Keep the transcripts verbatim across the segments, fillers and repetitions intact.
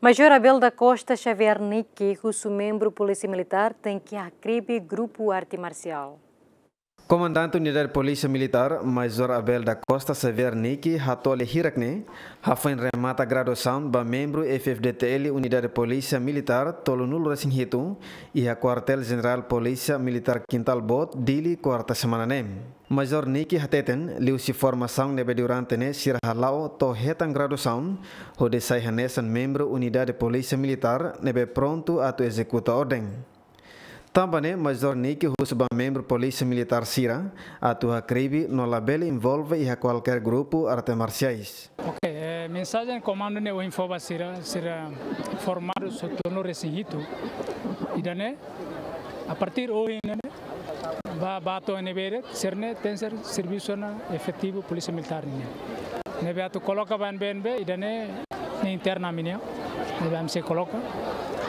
Major Abel da Costa Xavier Niki husu membru Polísia Militár tenke hakribi grupu arte marsiál. Komandante Unidade Polísia Militár, Major Abel da Costa Xavier Niki hato'o lia hirak ne'e, hafoin remata graduasaun ba membru F-FDTL Unidade Polísia Militár tolunulu-resin-hitu, iha Kuartél Jenerál Polísia Militár Kintal Boot, Dili, kuarta semana ne'e. Major Niki hateten, liuhusi formasaun ne'ebé durante ne'e sira hala'o to'o hetan graduasaun, hodi sai hanesan membru Unidade Polísia Militár ne'ebé prontu atu ezekuta orden. Tanba ne'e, Major Niki husu ba membru Polísia Militár sira atu hakribi no labele envolve iha kualkér grupu arte marsiais. Ok, eh, mensajen komandu ne'e ohin fó ba sira, sira formadu tolunulu-resin-hitu. Ida-ne'e, a partir ohin ne'e, ba, ba to'o ne'ebé de'it, sira-ne'e tenke ser servisu ona efetivu Polísia Militár nian. Ne'ebé atu koloka ba N B N B, ida-ne'e, ne'e interna ami-nian. Ne'ebé ami sei koloka.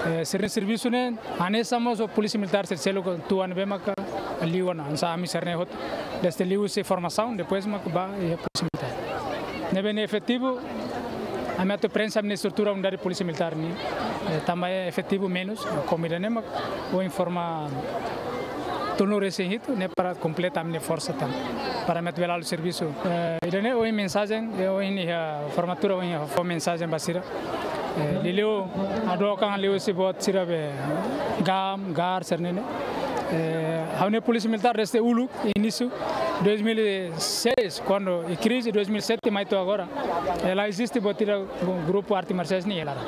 Eh, sira-nia servisu ne'e, hanesan mós ho Polísia Militár sira seluk tuan ne'ebé maka liu ona, hanesan ami sira-ne'e hotu. Desde liuhusi formasaun, depois maka ba iha Polísia Militár. Ne'ebé ne'e efetivu, ami atu prensa ami-nia estrutura Unidade Polísia Militár nian. Eh, tanba efetivu menus, komu ida-ne'e mak, ohin forma tolunulu-resin-hitu, ne'e para kompleta ami-nia forsa tan. Para ami atu bele halo servisu. Eh, ida-ne'e ohin mensajen, eh, ohin iha formatura, ohin iha fó mensajen ba sira. Eh, liuliu, hadook an liuhusi buat sira be GAM, GAR, sira-ne'e ne'e. Eh, ha'u-nia Polísia Militár desde uluk, inísiu dois mil e seis, kuandu iha krize dois mil e sete, mai to'o agora. Eh, la eziste buat ida grupu arte marsiais ne'e iha laran.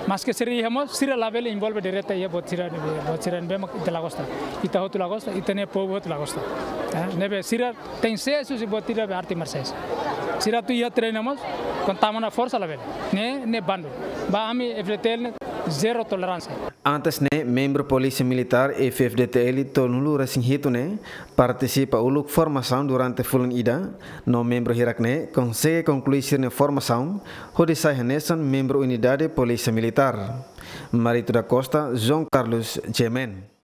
Maske sira iha mós, sira labele envolve direta iha buat sira, buat sira ne'ebé mak ita la gosta. Ita hotu la gosta, ita-nia povu hotu la gosta. Eh, ne'ebé sira tenke sees husi buat ida be arte marsiais. Sira atu iha treina mós, kuandu tama ona forsa labele. Ne'e, ne'e bandu. Ba ami F-FDTL ne'e zero toleránsia. Antes ne'e, membru Polísia Militár F-FDTL tolunulu-resin-hitu ne'e partisipa uluk formasaun durante fulan ida, no membru hirak ne'e konsege konklui sira-nia formasaun, hodi sai hanesan membru Unidade Polísia Militár. Marito da Costa, João Carlos, G M N.